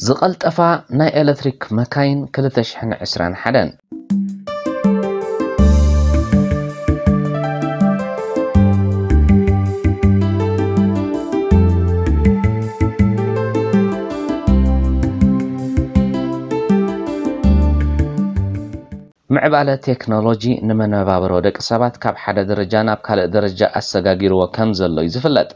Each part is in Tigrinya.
ዝቐልጠፋ ናይ ኤሌክትሪክ መካይን ክልተ ሽሕን ዕስራን ሓደን። ምዕባለ ቴክኖሎጂ ንመነባብሮ ደቂ ሰባት ካብ ሓደ ደረጃ ናብ ካልእ ደረጃ ኣሰጋጊርዎ ከም ዘሎ እዩ ዝፍለጥ።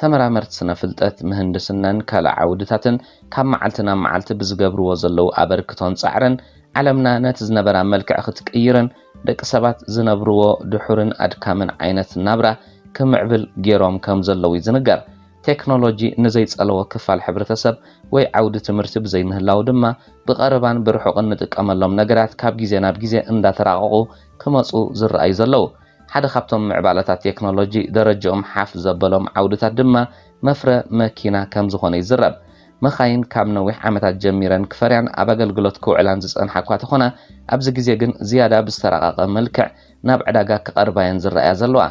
ተመራመርቲ ስነ ፍልጠት፣ ምህንድስናን ካልእ ዓውድታትን ካብ መዓልቲ ናብ መዓልቲ ብዝገብርዎ ዘለዉ ኣበርክቶን ጻዕርን፣ ዓለምና ነቲ ዝነበራ መልክዕ ክትቅይርን ደቂ ሰባት ዝነብርዎ ድሑርን ኣድካምን ዓይነት ናብራ ክምዕብል ገይሮም ከም ዘለዉ እዩ ዝንገር። ቴክኖሎጂ ንዘይጸለዎ ክፋል ሕብረተሰብ ወይ ዓውዲ ትምህርቲ ብዘይምህላው ድማ፣ ብቐረባን ብርሑቕን ንጥቀመሎም ነገራት ካብ ግዜ ናብ ግዜ እንዳተራቐቑ ክመጹ ዝረኣዩ ዘለዉ። ሓደ ካብቶም ምዕባለታት ቴክኖሎጂ ደረጃኦም ሓፍ ዘበሎም ዓውድታት ድማ መፍረ መኪና ከም ዝኾነ ይዝረብ። መኻይን ካብ ነዊሕ ዓመታት ጀሚረን ክፈርያን ኣብ ኣገልግሎት ክውዕላን ዝጸንሓ እኳ ተኾና፣ ኣብዚ ግዜ ግን ዝያዳ ብዝተራቐቐ መልክዕ ናብ ዕዳጋ ክቐርባየን ዝረኣያ ዘለዋ።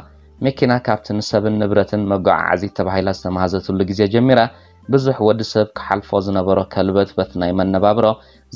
መኪና ካብቲ ንሰብን ንብረትን መጓዓዓዚት ተባሂላ ዝተመሃዘትሉ ግዜ ጀሚራ፣ ብዙሕ ወዲ ሰብ ክሓልፎ ዝነበሮ ከልበትበት ናይ መነባብሮ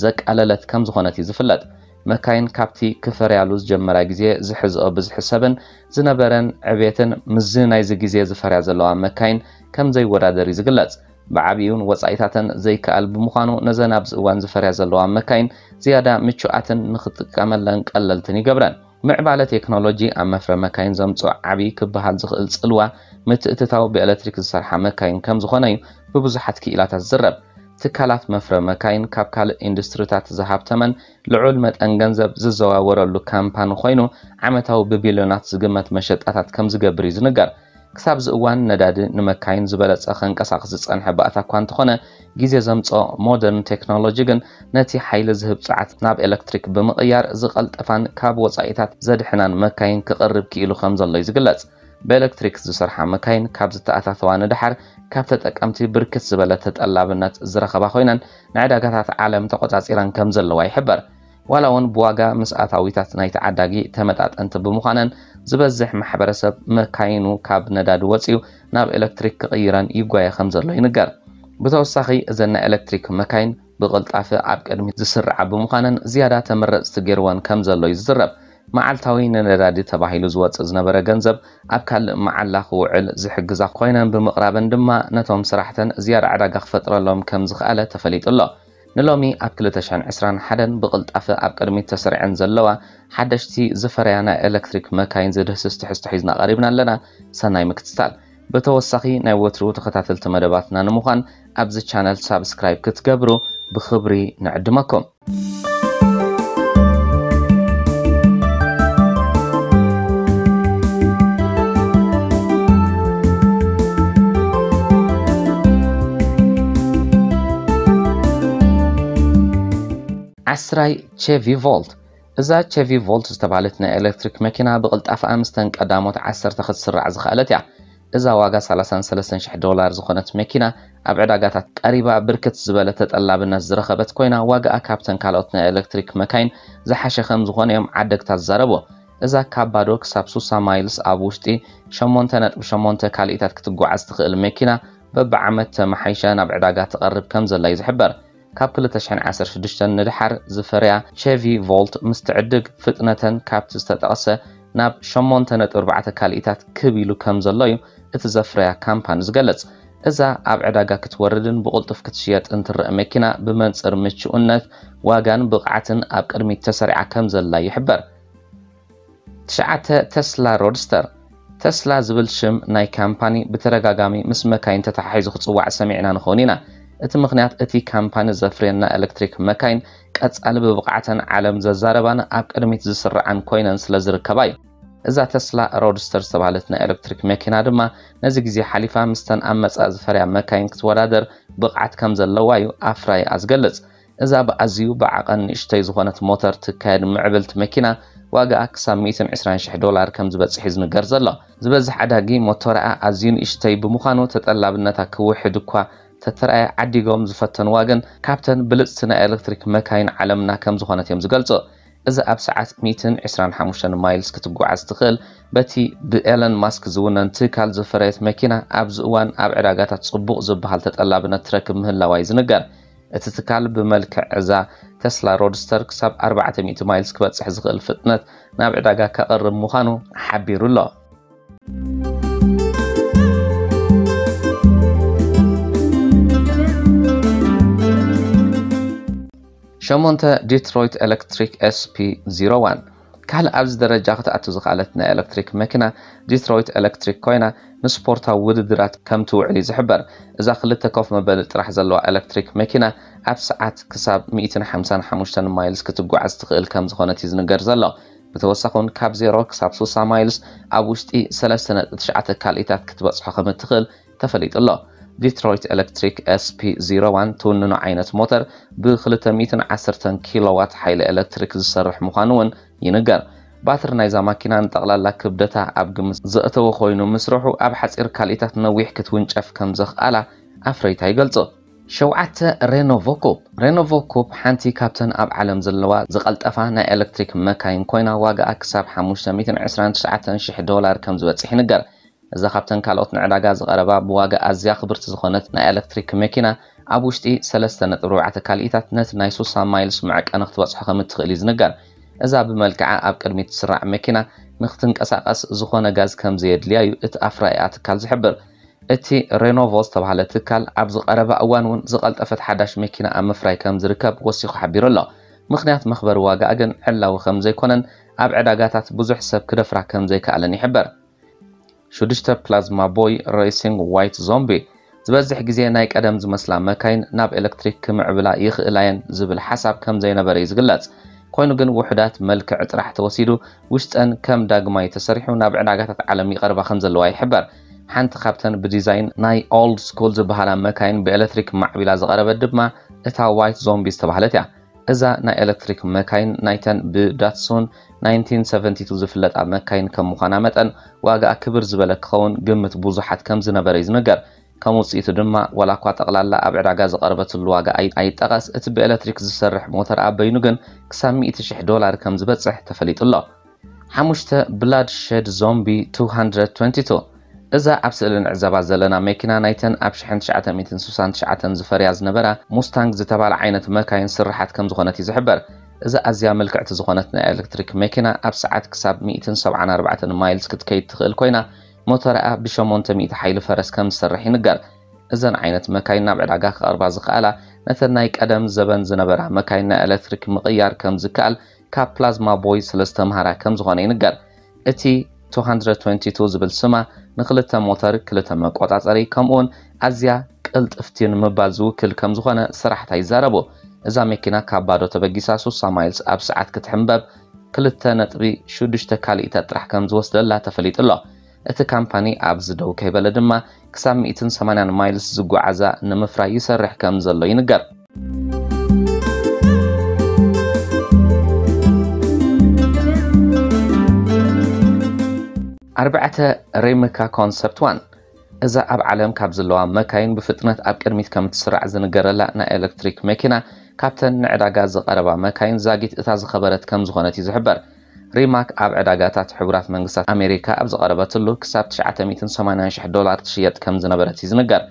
ዘቃለለት ከም ዝኾነት እዩ ዝፍለጥ። መካይን ካብቲ ክፈርያሉ ዝጀመራ ግዜ ዝሕዝኦ ብዝሒ ሰብን ዝነበረን ዕቤትን፣ ምስዚ ናይዚ ግዜ ዝፈርያ ዘለዋ መካይን ከም ዘይወዳደር እዩ ዝግለጽ። ብዓቢኡን ወጻኢታተን ዘይከኣል ብምዃኑ፣ ነዘን ኣብዚ እዋን ዝፈርያ ዘለዋ መካይን ዝያዳ ምቹኣትን ንኽጥቀመለን ቀለልትን ይገብረን። ምዕባለ ቴክኖሎጂ ኣብ መፍረ መካይን ዘምጽኦ ዓቢ ክበሃል ዝኽእል ጽልዋ፣ ምትእትታው ብኤሌክትሪክ ዝሰርሓ መካይን ከም ዝኾነ እዩ ብብዙሓት ክኢላታት ዝዝረብ። ትካላት መፍረ መካይን ካብ ካልእ ኢንዱስትሪታት ዝሃብተመን ልዑል መጠን ገንዘብ ዝዘዋወረሉ ካምፓኒ ኮይኑ፣ ዓመታዊ ብቢልዮናት ዝግመት መሸጣታት ከም ዝገብር እዩ ዝንገር። ክሳብ እዚ እዋን ነዳዲ ንመካይን ዝበለጸ ከንቀሳቕስ ዝጸንሐ ባእታ እኳ እንተኾነ፣ ግዜ ዘምጽኦ ሞደርን ቴክኖሎጂ ግን ነቲ ሓይሊ ዝህብ ጸዓት ናብ ኤሌክትሪክ ብምቕያር ዝቐልጠፋን ካብ ወጻኢታት ዘድሕናን መካይን ክቕርብ ክኢሉ ከም ዘሎ እዩ ዝግለጽ። ብኤሌክትሪክ ዝሰርሓ መካይን ካብ ዝተኣታተዋ ንደሓር ካብ ተጠቀምቲ ብርክት ዝበለ ተጠላብነት ዝረኸባ ኮይነን ንዕዳጋታት ዓለም ተቖጻጺረን ከም ዘለዋ ይሕበር። ዋላ እውን ብዋጋ ምስ ኣታዊታት ናይ ተዓዳጊ ተመጣጠንቲ ብምዃነን ዝበዝሕ ማሕበረሰብ መካይኑ ካብ ነዳዲ ወጺኡ ናብ ኤሌክትሪክ ክቕይረን ይጓየ ከም ዘሎ ይንገር። ብተወሳኺ እዘን ናይ ኤሌክትሪክ መካይን ብቕልጣፈ ኣብ ቅድሚት ዝስርዓ ብምዃነን ዝያዳ ተመረጽቲ ገይርወን ከም ዘሎ እዩ ዝዝረብ። መዓልታዊ ንነዳዲ ተባሂሉ ዝወጽእ ዝነበረ ገንዘብ ኣብ ካልእ መዓላ ክውዕል ዝሕግዛ ኮይነን ብምቕራበን ድማ ነቶም ስራሕተን ዝያዳ ዕዳጋ ክፈጥረሎም ከም ዝኸኣለ ተፈሊጡ ኣሎ። ንሎሚ ኣብ ክልተ ሽሕን ዕስራን ሓደን ብቕልጣፈ ኣብ ቅድሚት ተሰሪዐን ዘለዋ ሓደሽቲ ዝፈረያ ናይ ኤሌክትሪክ መካይን ዝድህስስ ትሕዝቶ ሒዝና ቀሪብና ኣለና። ሰናይ ምክትታል። ብተወሳኺ ናይ ወትሩ ተኸታተልቲ መደባትና ንምዃን ኣብዚ ቻነል ሳብስክራይብ ክትገብሩ ብኽብሪ ንዕድመኩም። ዓስራይ ቼቪ ቮልት። እዛ ቼቪ ቮልት ዝተባህለት ናይ ኤሌክትሪክ መኪና ብቕልጣፈኣ ምስተን ቀዳሞት ዓሰርተ ክትስራዕ ዝኸኣለት እያ። እዛ ዋጋ ሰላሳን ሰለስተን ሽሕ ዶላር ዝኾነት መኪና ኣብ ዕዳጋታት ቀሪባ ብርክት ዝበለ ተጠላብነት ዝረኸበት ኮይና፣ ዋጋኣ ካብተን ካልኦት ናይ ኤሌክትሪክ መካይን ዝሓሸ ከም ዝኾነ እዮም ዓደግታ ዝዛረቡ። እዛ ካብ ባዶ ክሳብ ሱሳ ማይልስ ኣብ ውሽጢ ሸሞንተ ነጥቢ ሸሞንተ ካልኢታት ክትጓዓዝ ትኽእል መኪና በብዓመት ተመሓይሻ ናብ ዕዳጋ ትቐርብ ከም ዘላ እዩ ዝሕበር። ካብ ክልተ ሽሕን ዓሰርተ ሽዱሽተን ንድሓር ዝፈርያ ቼቪ ቮልት ምስ ትዕድግ ፍጥነተን ካብቲ ዝተጠቕሰ ናብ ሸሞንተ ነጥቢ ኣርባዕተ ካልኢታት ክብ ኢሉ ከም ዘሎ እዩ እቲ ዘፍረያ ካምፓኒ ዝገልጽ። እዛ ኣብ ዕዳጋ ክትወርድን ብቕልጡፍ ክትሽየጥን ትረአ መኪና ብመንጽር ምቹእነት፣ ዋጋን ብቕዓትን ኣብ ቅድሚት ተሰሪዓ ከም ዘላ ይሕበር። ትሽዓተ፣ ተስላ ሮድስተር። ተስላ ዝብል ሽም ናይ ካምፓኒ ብተደጋጋሚ ምስ መካይን ተተሓሒዙ ክጽዋዕ ሰሚዕና ንኸውን ኢና። እቲ ምኽንያት እቲ ካምፓኒ ዘፍርየን ናይ ኤሌክትሪክ መካይን ቀጻሊ ብብቕዓተን ዓለም ዘዛረባን ኣብ ቅድሚት ዝስርዓን ኮይነን ስለ ዝርከባ እዩ። እዛ ተስላ ሮድስተር ዝተባህለት ናይ ኤሌክትሪክ መኪና ድማ ነዚ ግዜ ሓሊፋ ምስተን ኣብ መጻኢ ዝፈርያ መካይን ክትወዳደር ብቕዓት ከም ዘለዋ እዩ ኣፍራይኣ ዝገልጽ። እዛ ብኣዝዩ ብዓቐን ንእሽተይ ዝኾነት ሞተር ትካየድ ምዕብልቲ መኪና ዋጋኣ ክሳብ ሚእትን ዕስራን ሽሕ ዶላር ከም ዝበጽሕ እዩ ዝንገር ዘሎ። ዝበዝሕ ዓዳጊ ሞተርኣ ኣዝዩ ንእሽተይ ብምዃኑ ተጠላብነታ ክውሕድ እኳ ተተራእየ ዓዲጎም ዝፈተንዋ ግን ካብተን ብልጽቲ ናይ ኤሌክትሪክ መካይን ዓለምና ከም ዝኾነት እዮም ዝገልጹ። እዚ ኣብ ሰዓት ሚእትን ዕስራን ሓሙሽተን ማይልስ ክትጓዓዝ ትኽእል በቲ ብኤለን ማስክ ዝውነን ትካል ዝፈረየት መኪና ኣብዚ እዋን ኣብ ዕዳጋታት ጽቡቕ ዝበሃል ተጠላብነት ትረክብ ምህላዋ እዩ ዝንገር። እቲ ትካል ብመልክዕ እዛ ተስላ ሮድስተር ክሳብ ኣርባዕተ ሚእቲ ማይልስ ክበጽሕ ዝኽእል ፍጥነት ናብ ዕዳጋ ከቕርብ ምዃኑ ሓቢሩ ኣሎ። ሸሞንተ፣ ዲትሮይት ኤሌክትሪክ S P zero one። ካልእ ኣብዚ ደረጃ ክትኣቱ ዝኸኣለት ናይ ኤሌክትሪክ መኪና ዲትሮይት ኤሌክትሪክ ኮይና፣ ንስፖርታዊ ውድድራት ከም ትውዕል እዩ ዝሕበር። እዛ ክልተ ኮፍ መበሊ ጥራሕ ዘለዋ ኤሌክትሪክ መኪና ኣብ ሰዓት ክሳብ ሚእትን ሓምሳን ሓሙሽተን ማይልስ ክትጓዓዝ ትኽእል ከም ዝኾነት እዩ ዝንገር ዘሎ። ብተወሳኺ እውን ካብ ዜሮ ክሳብ ስሳ ማይልስ ኣብ ውሽጢ ሰለስተ ነጥቢ ትሽዓተ ካልኢታት ክትበጽሖ ከም እትኽእል ተፈሊጡ ኣሎ። ዲትሮይት ኤሌክትሪክ S P zero one ትውንኖ ዓይነት ሞተር ብ ክልተ ሚእትን ዓሰርተን ኪሎዋት ሓይሊ ኤሌክትሪክ ዝሰርሕ ምዃኑ እውን ይንገር። ባትሪ ናይዛ ማኪና ንጠቕላላ ክብደታ ኣብ ግምት ዘእተወ ኮይኑ፣ ምስርሑ ኣብ ሓጺር ካልኢታት ነዊሕ ክትውንጨፍ ከም ዘኽኣላ ኣፍረይታ ይገልጹ። ሸውዓተ፣ ሬኖቮ ኩፕ። ሬኖቮ ኩፕ ሓንቲ ካብተን ኣብ ዓለም ዘለዋ ዝቐልጠፋ ናይ ኤሌክትሪክ መካይን ኮይና፣ ዋጋኣ ክሳብ ሓሙሽተ ሚእትን ዕስራን ትሽዓተን ሽሕ ዶላር ከም ዝበጽሕ ይንገር። እዛ ካብተን ካልኦት ንዕዳጋ ዝቐረባ ብዋጋ ኣዝያ ክብርቲ ዝኾነት ናይ ኤሌክትሪክ መኪና፣ ኣብ ውሽጢ ሰለስተ ነጥቢ ኣርባዕተ ካልኢታት ነቲ ናይ ስሳ ማይልስ መዐቀኒ ክትበጽሖ ከም እትኽእል እዩ ዝንገር። እዛ ብመልክዓ ኣብ ቅድሚት ትስራዕ መኪና ንክትንቀሳቐስ ዝኾነ ጋዝ ከም ዘየድልያ እዩ እቲ ኣፍራይኣ ትካል ዝሕብር። እቲ ሬኖቮ ዝተባህለ ትካል ኣብዚ ቀረባ እዋን እውን ዝቐልጠፈት ሓዳሽ መኪና ኣብ ምፍራይ ከም ዝርከብ ወሲኹ ሓቢሩ ኣሎ። ምኽንያት መኽበሪ ዋጋኣ ግን ዕላዊ ከም ዘይኮነን ኣብ ዕዳጋታት ብዙሕ ሰብ ክደፍራ ከም ዘይከኣለን ይሕበር። ሽዱሽተ፣ ፕላዝማ ቦይ ሬሲንግ ዋይት ዞምቢ። ዝበዝሕ ግዜ ናይ ቀደም ዝመስላ መካይን ናብ ኤሌክትሪክ ክምዕብላ ይኽእላ እየን ዝብል ሓሳብ ከም ዘይነበረ እዩ ዝግለጽ። ኮይኑ ግን ውሑዳት መልክዕ ጥራሕ ተወሲዱ ውሽጠን ከም ዳግማይ ተሰሪሑ ናብ ዕዳጋታት ዓለም ይቐርባ ከም ዘለዋ ይሕበር። ሓንቲ ካብተን ብዲዛይን ናይ ኦልድ ስኩል ዝበሃላ መካይን ብኤሌክትሪክ ማዕቢላ ዝቐረበት ድማ እታ ዋይት ዞምቢ ዝተባህለት እያ። እዛ ናይ ኤሌክትሪክ መካይን ናይተን ብዳትሱን ናይንቲን ሰቨንቲ ቱ ዝፍለጣ መካይን ከም ምዃና መጠን ዋጋኣ ክብር ዝበለ ክኸውን ግምት ብዙሓት ከም ዝነበረ እዩ ዝንገር። ከም ውጽኢቱ ድማ ዋላ እኳ ጠቕላላ ኣብ ዕዳጋ ዝቐረበትሉ ዋጋ ኣይ-፣ ኣይጠቐስ፣ እቲ ብኤሌክትሪክ ዝሰርሕ ሞተር ኣብ በይኑ ግን ክሳብ ሚእቲ ሽሕ ዶላር ከም ዝበጽሕ ተፈሊጡ ኣሎ። ሓሙሽተ፣ ብላድ ሸድ ዞምቢ ቱ ሃንድረድ ትወንቲ ቱ። እዛ ኣብ ስእሊ ንዕዘባ ዘለና መኪና ናይተን ኣብ ሽሕን ትሽዓተ ሚእትን ስሳን ትሽዓተን ዝፈርያ ዝነበራ ሙስታንግ ዝተባህለ ዓይነት መካይን ስርሓት ከም ዝኾነት እዩ ዝሕበር። እዛ ኣዝያ ምልክዕቲ ዝኾነት ናይ ኤሌክትሪክ መኪና ኣብ ሰዓት ክሳብ ሚእትን ሰብዓን ኣርባዕተን ማይልስ ክትከይድ ትኽእል ኮይና፣ ሞተርኣ ብሸሞንተ ሚእቲ ሓይሊ ፈረስ ከም ዝሰርሕ ይንገር። እዘን ዓይነት መካይን ናብ ዕዳጋ ክቐርባ ዝኸኣላ፣ ነተን ናይ ቀደም ዘበን ዝነበራ መካይን ናይ ኤሌክትሪክ ምቕያር ከም ዝከኣል ካብ ፕላዝማ ቦይ ስለ ዝተምሃራ ከም ዝኾነ ይንገር። እቲ ቱ ሃንድረድ ትወንቲ ቱ ዝብል ስማ ንክልተ ሞተር፣ ክልተ መቆጻጸሪ፣ ከምኡውን ኣዝያ ቅልጥፍቲ ንምባል ዝውክል ከም ዝኾነ ሰራሕታ ይዛረቡ። እዛ መኪና ካብ ባዶ ተበጊሳ ስሳ ማይልስ ኣብ ሰዓት ክትሕንበብ ክልተ ነጥቢ ሽዱሽተ ካልኢታት ጥራሕ ከም ዝወስደላ ተፈሊጡ ኣሎ። እቲ ካምፓኒ ኣብዚ ደው ከይበለ ድማ ክሳብ ሚእትን ሰማንያን ማይልስ ዝጓዓዛ ንምፍራይ ይሰርሕ ከም ዘሎ ይንገር። ኣርባዕተ፣ ሪምካ ኮንሰፕት ዋን። እዛ ኣብ ዓለም ካብ ዘለዋ መካይን ብፍጥነት ኣብ ቅድሚት ከም እትስራዕ ዝንገረላ ናይ ኤሌክትሪክ መኪና፣ ካብተን ንዕዳጋ ዝቐረባ መካይን ዛጊት እታ ዝኸበረት ከም ዝኾነት እዩ ዝሕበር። ሪማክ ኣብ ዕዳጋታት ሕቡራት መንግስታት ኣሜሪካ ኣብ ዝቐረበትሉ ክሳብ ትሽዓተ ሚእትን ሰማንያን ሽሕ ዶላር ትሽየጥ ከም ዝነበረት እዩ ዝንገር።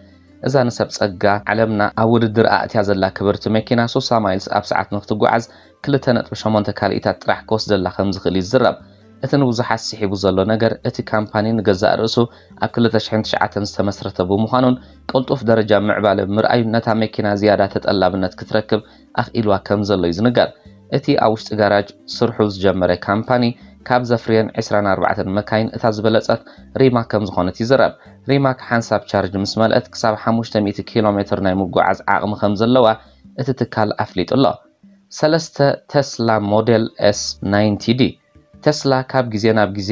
እዛ ንሰብ ጸጋ ዓለምና ኣብ ውድድር ኣእትያ ዘላ ክብርቲ መኪና፣ ስሳ ማይልስ ኣብ ሰዓት ንክትጓዓዝ ክልተ ነጥቢ ሸሞንተ ካልኢታት ጥራሕ ክወስደላ ከም ዝኽእል እዩ ዝዝረብ። እቲ ንብዙሓት ስሒቡ ዘሎ ነገር፣ እቲ ካምፓኒ ንገዛእ ርእሱ ኣብ ክልተ ሽሕን ትሽዓተን ዝተመስረተ ብምዃኑን ቅልጡፍ ደረጃ ምዕባለ ምርኣዩን ነታ መኪና ዝያዳ ተጠላብነት ክትረክብ ኣኽኢልዋ ከም ዘሎ እዩ ዝንገር። እቲ ኣብ ውሽጢ ጋራጅ ስርሑ ዝጀመረ ካምፓኒ፣ ካብ ዘፍርየን ዕስራን ኣርባዕተን መካይን እታ ዝበለጸት ሪማክ ከም ዝኾነት ይዝረብ። ሪማክ ሓንሳብ ቻርጅ ምስ መልአት ክሳብ ሓሙሽተ ሚእቲ ኪሎ ሜትር ናይ ምጉዓዝ ዓቕሚ ከም ዘለዋ እቲ ትካል ኣፍሊጡ ኣሎ። ሰለስተ፣ ቴስላ ሞዴል ኤስ ናይንቲ ዲ። ቴስላ ካብ ግዜ ናብ ግዜ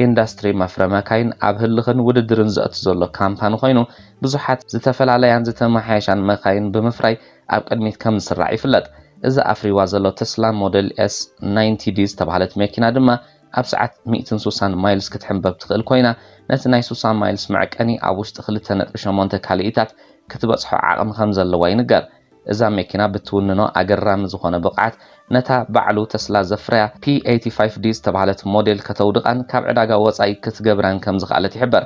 ኢንዳስትሪ መፍረ መካይን ኣብ ህልኽን ውድድርን ዘእቱ ዘሎ ካምፓኒ ኮይኑ፣ ብዙሓት ዝተፈላለያን ዝተመሓየሻን መካይን ብምፍራይ ኣብ ቅድሚት ከም ዝስራዕ ይፍለጥ። እዛ ኣፍሪዋ ዘሎ ቴስላ ሞዴል ኤስ ናይንቲ ዲ ዝተባህለት መኪና ድማ ኣብ ሰዓት ሚእትን ስሳን ማይልስ ክትሕንበብ ትኽእል ኮይና፣ ነቲ ናይ ስሳ ማይልስ መዕቀኒ ኣብ ውሽጢ ክልተ ነጥቢ ሸሞንተ ካልኢታት ክትበጽሖ ዓቕሚ ከም ዘለዋ ይንገር። እዛ መኪና ብትውንኖ ኣገራሚ ዝኾነ ብቕዓት፣ ነታ ባዕሉ ተስላ ዘፍረያ ፒ ኤይቲ ፋይቭ ዲ ዝተባህለት ሞዴል ከተውድቓን ካብ ዕዳጋ ወጻኢ ክትገብራን ከም ዝኸኣለት ይሕበር።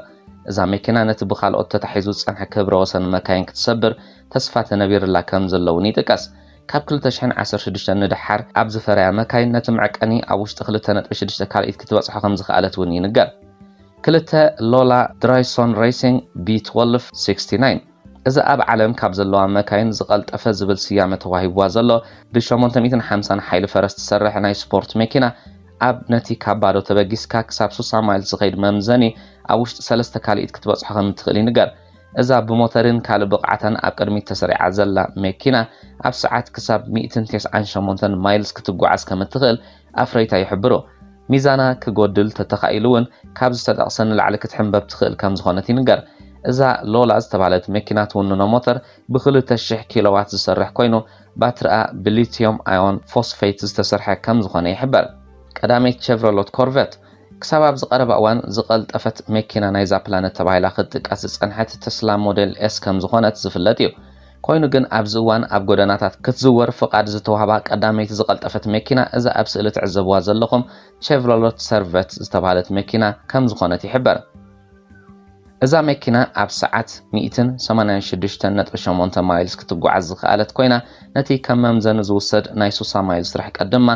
እዛ መኪና ነቲ ብካልኦት ተታሒዙ ዝጸንሐ ክብረ ወሰን መካይን ክትሰብር ተስፋ ተነቢርላ ከም ዘለውን ይጥቀስ። ካብ ክልተ ሽሕን ዓሰርተ ሽዱሽተን ንደሓር ኣብ ዝፈረያ መካይን ነቲ መዕቀኒ ኣብ ውሽጢ ክልተ ነጥቢ ሽዱሽተ ካልኢት ክትበጽሖ ከም ዝኸኣለት እውን ይንገር። ክልተ ሎላ ድራይሶን ሬሲንግ ቢ ትወልቭ ሲክስቲ ናይን። እዚ ኣብ ዓለም ካብ ዘለዋ መካይን ዝቐልጠፈ ዝብል ስያመ ተዋሂብዋ ዘሎ ብሸሞንተ ሚእትን ሓምሳን ሓይሊ ፈረስ ትሰርሕ ናይ ስፖርት መኪና ኣብ ነቲ ካብ ባዶ ተበጊስካ ክሳብ ሱሳ ማይልስ ዝኸይድ መምዘኒ ኣብ ውሽጢ ሰለስተ ካልኢት ክትበጽሖ ከም እትኽእል ይንገር። እዛ ብሞተርን ካልእ ብቕዓታን ኣብ ቅድሚት ተሰሪዓ ዘላ መኪና ኣብ ሰዓት ክሳብ ሚእትን ተስዓን ሸሞንተን ማይልስ ክትጓዓዝ ከም እትኽእል ኣፍረይታ ይሕብሩ። ሚዛና ክጎድል ተተኻኢሉ እውን ካብ ዝተጠቕሰ ንላዕሊ ክትሕንበብ ትኽእል ከም ዝኾነት ይንገር። እዛ ሎላ ዝተባህለት መኪና ትውንኖ ሞተር ብክልተ ሽሕ ኪሎዋት ዝሰርሕ ኮይኑ ባትሪኣ ብሊቲዮም ኣዮን ፎስፌት ዝተሰርሐ ከም ዝኾነ ይሕበር። ቀዳመይቲ ቸቭሮሎት ኮርቨት ክሳብ ኣብዚ ቀረባ እዋን ዝቐልጠፈት መኪና ናይዛ ፕላነት ተባሂላ ክትጥቀስ ዝጸንሐት ተስላ ሞዴል ኤስ ከም ዝኾነት ዝፍለጥ እዩ። ኮይኑ ግን ኣብዚ እዋን ኣብ ጎደናታት ክትዝወር ፍቓድ ዝተዋህባ ቀዳመይቲ ዝቐልጠፈት መኪና እዛ ኣብ ስእሊ ትዕዘብዋ ዘለኹም ቸቭሮሎት ሰርቨት ዝተባህለት መኪና ከም ዝኾነት ይሕበር። እዛ መኪና ኣብ ሰዓት ሚእትን ሰማንያን ሽዱሽተን ነጥቢ ሸሞንተ ማይልስ ክትጓዓዝ ዝኸኣለት ኮይና ነቲ ከም መምዘኒ ዝውሰድ ናይ ሱሳ ማይልስ ርሕቀት ድማ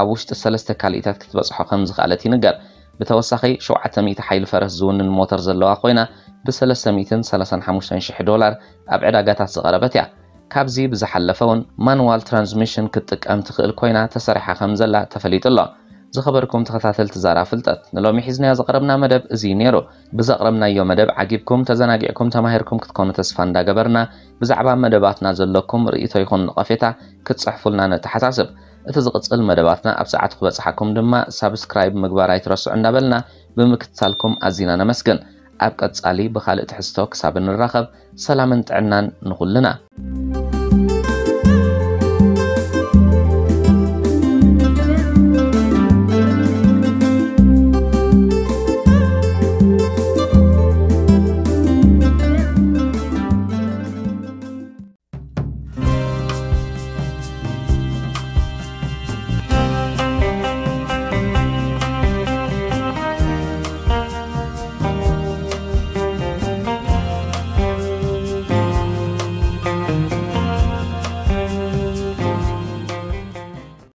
ኣብ ውሽጢ ሰለስተ ካልኢታት ክትበጽሖ ከም ዝኸኣለት ይንገር። ብተወሳኺ ሸውዓተ ሚእቲ ሓይሊ ፈረስ ዝውንን ሞተር ዘለዋ ኮይና ብሰለስተ ሚእትን ሰላሳን ሓሙሽተን ሽሕ ዶላር ኣብ ዕዳጋታት ዝቐረበት እያ። ካብዚ ብዝሓለፈ እውን ማኑዋል ትራንስሚሽን ክትጥቀም ትኽእል ኮይና ተሰሪሓ ከም ዘላ ተፈሊጡ ኣሎ። ዝኸበርኩም ተኸታተልቲ ዛራ ፍልጠት ንሎሚ ሒዝናዮ ዘቕረብና መደብ እዚ እዩ ነይሩ። ብዘቕረብናዮ መደብ ዓጊብኩም ተዘናጊዕኩም ተማሂርኩም ክትኮኑ ተስፋ እንዳገበርና ብዛዕባ መደባትና ዘለኩም ርእይቶ ይኹን ነቐፌታ ክትጽሕፉልና ነተሓሳስብ። እቲ ዝቕጽል መደባትና ኣብ ሰዓቱ ክበጽሓኩም ድማ ሳብስክራይብ ምግባር ኣይትረስዑ እንዳበልና ብምክትታልኩም ኣዚና ነመስግን። ኣብ ቀጻሊ ብኻልእ ትሕዝቶ ክሳብ እንራኸብ ሰላምን ጥዕናን ንኹልና።